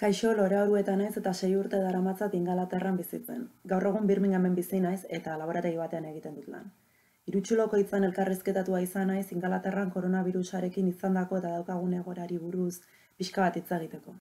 Kaixo, Lore Orueta naiz eta 6 urte daramatzat Ingalaterran bizitzen. Gaur egun Birminghamen bizi naiz eta laborategi batean egiten dut lan. Irutsuloko hitzan elkarrizketatua izan naiz Ingalaterran koronabirusarekin izandako eta daukagun egoerari buruz pixka bat hitz egiteko.